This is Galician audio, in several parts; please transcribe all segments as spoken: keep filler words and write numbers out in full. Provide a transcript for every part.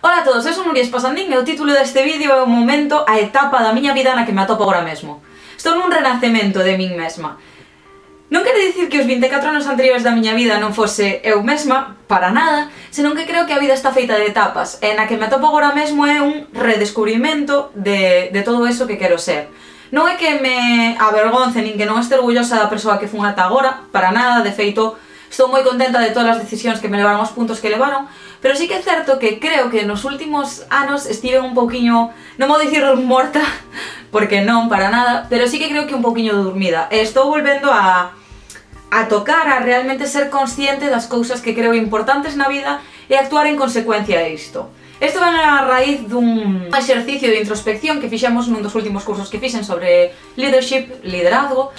Ola a todos, eu son Nuria Espasandín e o título deste vídeo é o momento, a etapa da miña vida na que me atopo agora mesmo. Estou nun renacemento de min mesma. Non quere dicir que os vinte e catro anos anteriores da miña vida non fose eu mesma, para nada, senón que creo que a vida está feita de etapas, e na que me atopo agora mesmo é un redescubrimento de, de todo eso que quero ser. Non é que me avergonce nin que non este orgullosa da persoa que fun ata agora, para nada, de feito, estou moi contenta de todas as decisións que me levaron aos puntos que levaron, pero sí que é certo que creo que nos últimos anos estive un pouquiño, non vou dicir morta, porque non, para nada, pero sí que creo que un pouquiño dormida. E estou volvendo a, a tocar, a realmente ser consciente das cousas que creo importantes na vida e actuar en consecuencia a isto. Isto ven a raíz dun exercicio de introspección que fixemos nun dos últimos cursos que fixen sobre leadership, liderazgo,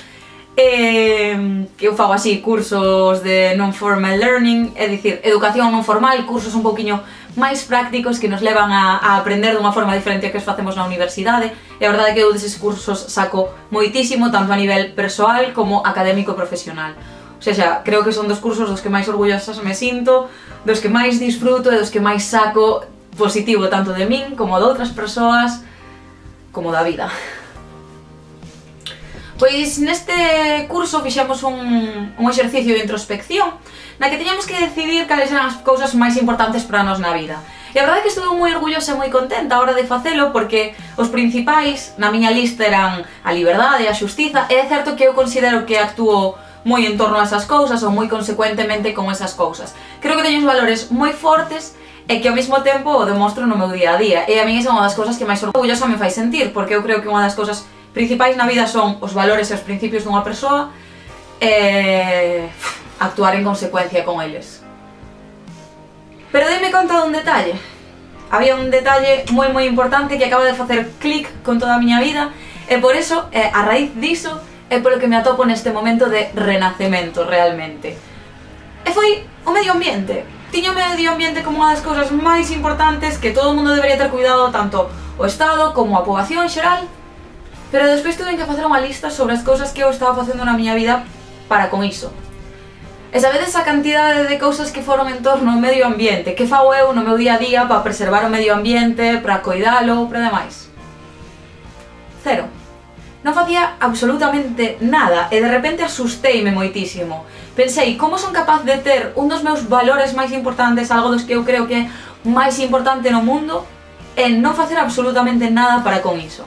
Eh, que eu fago así, cursos de non-formal learning, é dicir, educación non formal, cursos un pouquiño máis prácticos que nos levan a, a aprender dunha forma diferente a que os facemos na universidade, e a verdade é que eu deses cursos saco moitísimo, tanto a nivel persoal como académico e profesional. O sea, creo que son dos cursos dos que máis orgullosas me sinto, dos que máis disfruto e dos que máis saco positivo tanto de min como de outras persoas, como da vida. Pois neste curso fixemos un, un exercicio de introspección na que teñamos que decidir cales eran as cousas máis importantes para nós na vida. E a verdade é que estuve moi orgullosa e moi contenta a hora de facelo porque os principais na miña lista eran a liberdade e a xustiza, e é certo que eu considero que actúo moi en torno a esas cousas ou moi consecuentemente con esas cousas. Creo que teño uns valores moi fortes e que ao mesmo tempo o demostro no meu día a día, e a mí é unha das cousas que máis orgullosa me fai sentir, porque eu creo que unha das cousas principais na vida son os valores e os principios dunha persoa e actuar en consecuencia con eles. Pero deime conta dun detalle. Había un detalle moi moi importante que acaba de facer clic con toda a miña vida, e por eso, a raíz diso, é polo que me atopo neste momento de renacemento realmente. E foi o medio ambiente. Tiño o medio ambiente como unha das cousas máis importantes que todo o mundo debería ter cuidado, tanto o Estado como a poboación en xeral. Pero despois tuve que facer unha lista sobre as cousas que eu estaba facendo na miña vida para con iso. E sabedes a cantidade de cousas que foron en torno ao medio ambiente? Que fago eu no meu día a día para preservar o medio ambiente, para coidalo, para demais? Cero. Non facía absolutamente nada e de repente asusteime moitísimo. Pensei, como son capaz de ter un dos meus valores máis importantes, algo dos que eu creo que é máis importante no mundo, e non facer absolutamente nada para con iso?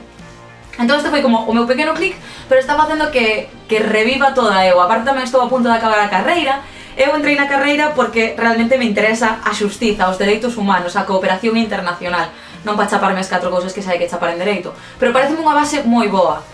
Entón este foi como o meu pequeno clic, pero está facendo que, que reviva toda eu. Aparte tamén estou a punto de acabar a carreira. Eu entrei na carreira porque realmente me interesa a xustiza, os dereitos humanos, a cooperación internacional. Non para chaparme as catro cousas que sai que chapar en dereito, pero pareceme unha base moi boa.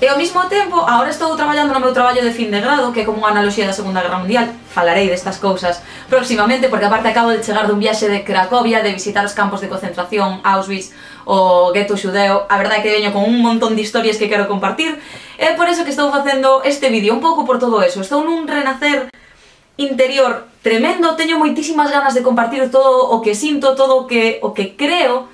E ao mesmo tempo, agora estou traballando no meu traballo de fin de grado, que é como unha analoxía da Segunda Guerra Mundial. Falarei destas cousas próximamente, porque aparte acabo de chegar dun viaxe de Cracovia, de visitar os campos de concentración, Auschwitz, o gueto xudeo. A verdade é que veño con un montón de historias que quero compartir, e por eso que estou facendo este vídeo, un pouco por todo eso. Estou nun renacer interior tremendo, teño moitísimas ganas de compartir todo o que sinto, todo o que, o que creo,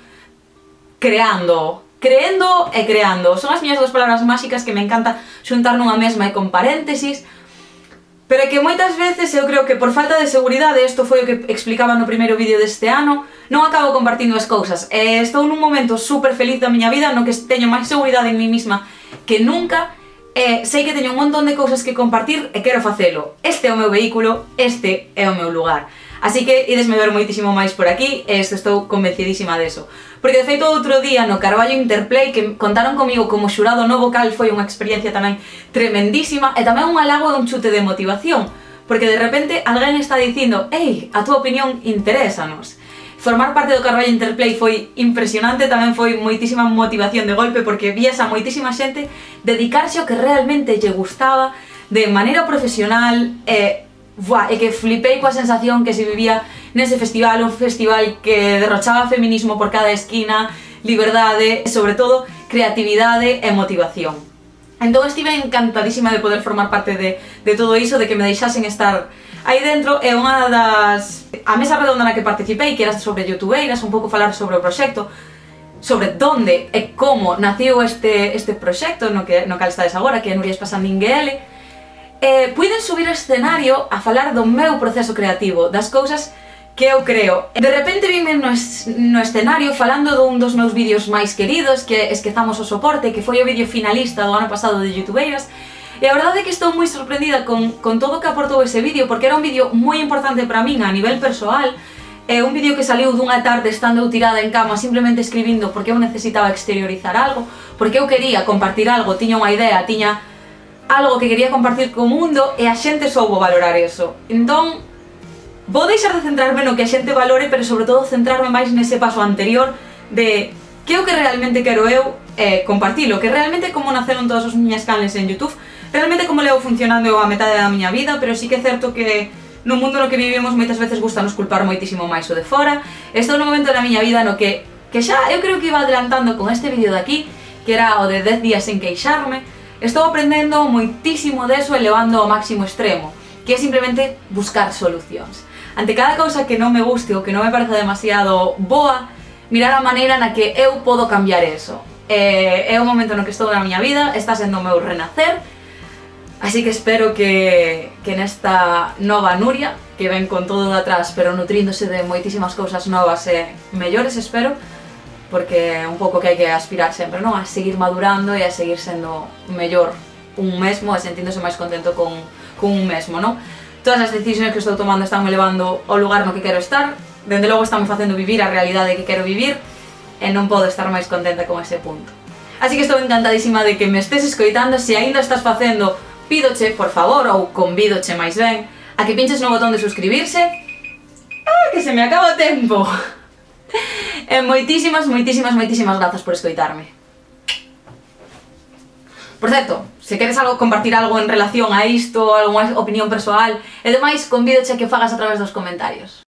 creando. Creendo e creando. Son as miñas dúas palabras máxicas que me encanta xuntar nunha mesma e con paréntesis, pero que moitas veces eu creo que por falta de seguridade, isto foi o que explicaba no primeiro vídeo deste ano, non acabo compartindo as cousas. E estou nun momento super feliz da miña vida no que teño máis seguridade en mí mesma que nunca, e sei que teño un montón de cousas que compartir e quero facelo. Este é o meu vehículo, este é o meu lugar. Así que idesme ver moitísimo máis por aquí, e estou convencidísima deso. Porque de feito outro día no Carballo Interplay que contaron comigo como xurado no vocal foi unha experiencia tamén tremendísima e tamén un halago e un chute de motivación, porque de repente alguén está dicindo «Ei, a túa opinión interésanos». Formar parte do Carballo Interplay foi impresionante, tamén foi moitísima motivación de golpe porque vías a moitísima xente dedicarse ao que realmente lle gustaba de maneira profesional e... Buah, e que flipei coa sensación que se vivía nese festival, un festival que derrochaba feminismo por cada esquina, liberdade e, sobre todo, creatividade e motivación. Entón estive encantadísima de poder formar parte de, de todo iso, de que me deixasen estar aí dentro, e unha das... A mesa redonda na que participei, que era sobre youtubeiras, un pouco falar sobre o proxecto, sobre donde e como naciu este, este proxecto no que, no cal estades agora, que é Nuria Espasandín G L, Eh, puiden subir ao escenario a falar do meu proceso creativo, das cousas que eu creo. De repente vime no, es no escenario falando dun dos meus vídeos máis queridos, que Esquezamos o soporte, que foi o vídeo finalista do ano pasado de Youtubeiras, e a verdade é que estou moi sorprendida con, con todo o que aportou ese vídeo, porque era un vídeo moi importante para min a nivel persoal. É un vídeo que saliu dunha tarde estando eu tirada en cama simplemente escribindo porque eu necesitaba exteriorizar algo, porque eu quería compartir algo, tiña unha idea, tiña algo que quería compartir co mundo e a xente soubo valorar eso. Entón, vou deixar de centrarme no que a xente valore, pero sobre todo centrarme máis nese paso anterior de que é o que realmente quero eu eh, compartilo, que realmente como naceron todos os miñas canles en YouTube, realmente como leo funcionando eu a metade da miña vida, pero sí que é certo que no mundo no que vivimos moitas veces gusta nos culpar moitísimo máis o de fora. Estou no momento da miña vida no que, que xa eu creo que iba adelantando con este vídeo de aquí, que era o de dez días sen queixarme. Estou aprendendo moitísimo deso e levando ao máximo extremo, que é simplemente buscar solucións. Ante cada cousa que non me guste ou que non me parece demasiado boa, mirar a maneira na que eu podo cambiar eso. É, é o momento no que estou na miña vida, está sendo o meu renacer. Así que espero que, que nesta nova Nuria, que ven con todo de atrás, pero nutríndose de moitísimas cousas novas e mellores, espero, porque é un pouco que hai que aspirar sempre, non? A seguir madurando e a seguir sendo mellor un mesmo e sentíndose máis contento con, con un mesmo, non? Todas as decisións que estou tomando están me levando ao lugar no que quero estar, dende logo están me facendo vivir a realidade que quero vivir e non podo estar máis contenta con ese punto. Así que estou encantadísima de que me estés escoitando. Se aínda estás facendo, pídoche, por favor, ou convídoche máis ben, a que pinches no botón de suscribirse. ¡Ah, que se me acaba o tempo! E moitísimas, moitísimas, moitísimas grazas por escoitarme. Por certo, se queres algo, compartir algo en relación a isto, algunha opinión persoal e demais, convídoche a que o fagas a través dos comentarios.